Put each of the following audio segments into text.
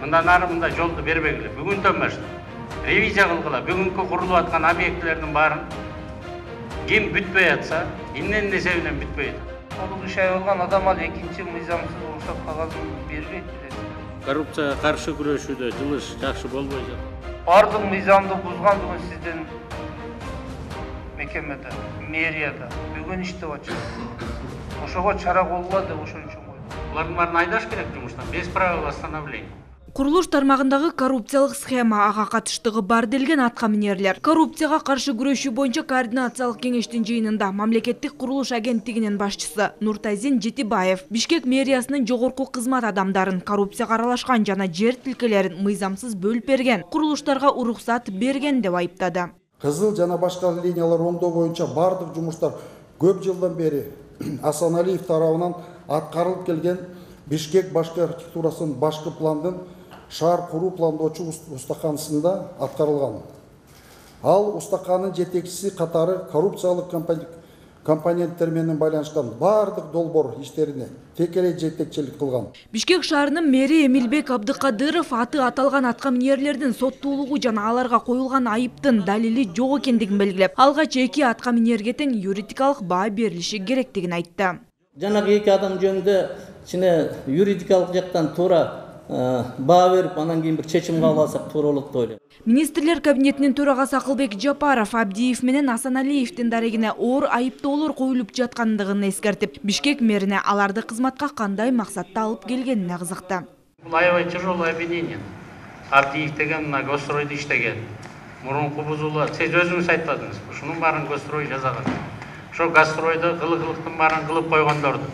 Мындан ары мындай жолду бербегиле. Бүгүндөн баштап ревизия кылгыла. Бүгүнкү курулуп аткан объектилердин баарын ким бүтпөй атса, эмненин эсебинен бүтпөй атат. Толук иш аябалган адам ал экинчи мыйзамсыз уруксат кагазын бербейт. Коррупцияга каршы күрөшүүдө жылыш жакшы болбой жатат. Бардык мыйзамды бузган бүгүн сиздин мекемеде, мэрияда бүгүн иштеп атышат. Ошого чара колгула деп ошон үчүн койдум. Булардын баарын айдаш керек жумуштан, без правил восстановления. Курулуш тармагындагы коррупциялык схема, ага катыштыгы бар делген аткаминерлер. Коррупцияга каршы күрөшүү боюнча координациялык кеңештин жыйынында мамлекеттик курулуш агенттигинин башчысы Нуртазин Жетибаев Бишкек мэриясынын жогорку кызмат адамдарын коррупцияга аралашкан жана жер тилкелерин мыйзамсыз бөлүп берген, курулуштарга уруксат берген деп айыптады. Кызыл жана башка линиялар оңдоо боюнча бардык жумуштар көп жылдан бери Асаналиев тарабынан аткарылып келген Бишкек башкы архитектурасынын башкы пландын шаар куруу пландоочу устаканысында аткарылган. Ал устаканын жетекчиси катары коррупциялык компоненттер менен байланышкан бардык долбоор иштерине текелей жетекчилик кылган. Бишкек шаарынын мэри Эмилбек Абдыкадыров аты аталган аткаминерлердин соттуулугу жана аларга коюлган айыптын далили жок экендигин белгилеп, алгач эки аткаминерге тең юридикалык баа берилиши керектигин айтты. Жанагы эки адам жөнүндө ичине юридикалык жактан туура баа берип, анан кийин бир чечим кабыл алсак туура болот деп ойлойм. Министрлер кабинетинин төрагасы Акылбек Жапаров Абдиев менен Асаналиевдин дарегине оор айыптоолор коюлуп жаткандыгын эскертип, Бишкек мэрине аларды кызматка кандай максатта алып келгенине кызыкты. Бул аябай тяжелое обвинение. Абдиев деген мына Госстройдо иштеген. Мурунку бузуулар, сиз өзүңүз айтпадыңыз. Ушунун баарын Госстрой жасаган. Ошо Госстройдо кылыктын баарын кылып койгондорду.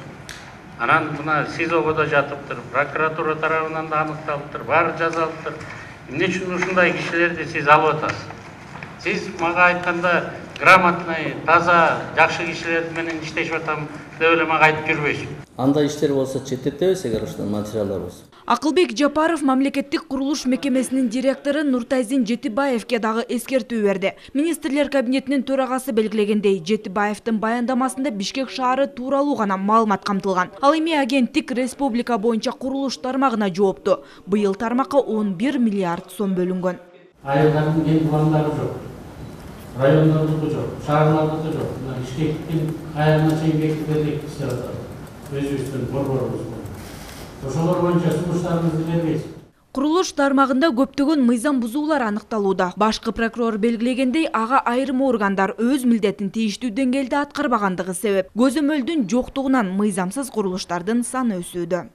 Анан мына СИЗОго да жатыптыр, прокуратура тарабынан да аныкталыптыр, баары жазалыптыр. Эмне үчүн ушундай кишилерди сиз алып атасыз? Сиз мага айтканда грамотный, таза, жакшы кишилер менен иштешип атам деп эле мага айтып жүрбөйсүз. Андай иштер болсо четтетебиз, эгер ошондой материалдар болсо. Акылбек Жапаров мамлекеттик курулуш мекемесинин директору Нуртазин Жетибаевке дагы эскертүү берди. Министрлер кабинетинин төрагасы белгилегендей, Жетибаевдин баяндамасында Бишкек шаары тууралуу гана маалымат камтылган. Ал эми агенттик республика боюнча курулуш тармагына жоопту. Быйыл тармакка 11 миллиард сом бөлүнгөн. Айылдардын кен пландары жок. Райондордуку жок, шаарлардыкы жок. Бишкектин айылына чейин бекитилген иштер атат. Өзүбүздүн борборубуз. Ошолор боюнча сунуштарыңызды бербейсиз. Курулуш тармагында көптөгөн мыйзам бузуулар аныкталууда. Башкы прокурор белгилегендей, ага айрым органдар өз милдетин тийиштүү деңгээлде аткарбагандыгы себеп. Көзөмөлдүн жоктугунан мыйзамсыз курулуштардын саны өсүүдө.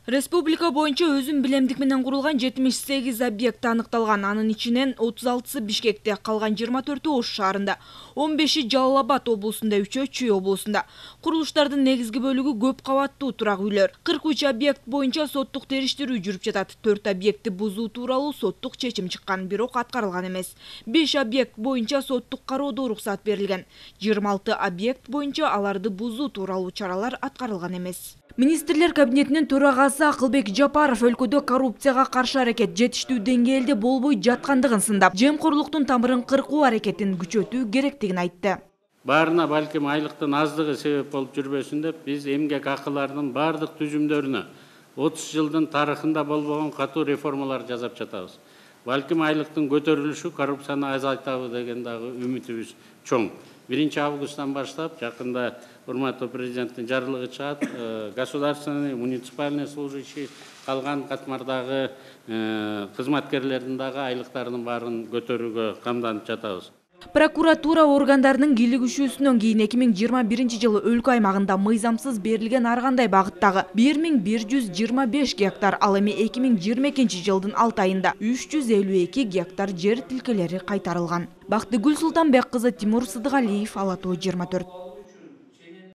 Республика боюнча өзүн билемдик менен курулган 78 объект аныкталган. Анын ичинен 36-сы Бишкекте, калган 24-ü Ош шаарында, 15-и Жалал Абад облусунда, 3-ü Чүй облусунда. Курулуштардын негизги бөлүгү көп кабаттуу турак үйлөр. 43 объект боюнча соттук териштирүү жүрүп жатат. 4 объектти бузуу тууралуу соттук чечим чыккан, бирок аткарылган эмес. 5 объект боюнча соттук кароодо уруксат берилген. 26 объект боюнча аларды бузуу тууралуу чаралар аткарылган эмес. Министрлер кабинетинин төрагасы Акылбек Жапаров өлкөдө коррупцияга каршы аракет жетиштүү деңгээлде болбой жаткандыгын сындап, жемкорлуктун тамырын кыркуу аракетин күчөтүү керектигин айтты. Баарына балким айлыктын аздыгы себеп болуп жүрбөсүн деп, биз эмгек акыларынын бардык түзүмдөрүнө 30 жылдын тарыхында болбогон катуу реформалар жасап жатабыз. Балким айлыктын көтөрүлүшү коррупцияны азайтабы деген дагы үмүтүбүз чоң. 1-августтан баштап жакында урматтуу президенттин жарлыгы чыгат, государственный, муниципальный служащий калган катмардагы кызматкерлердин дагы айлыктарынын баарын көтөрүүгө камданып жатабыз. Прокуратура органдарынын кийлигишүүсүнөн кийин 2021-жылы өлкө аймагында мыйзамсыз берилген ар кандай багыттагы 1125 гектар, ал эми 2022-жылдын 6 айында 352 гектар жер тилкелери кайтарылган. Бактыгүл Султанбек кызы, Тимур Сыдыгалиев, Ала Тоо 24.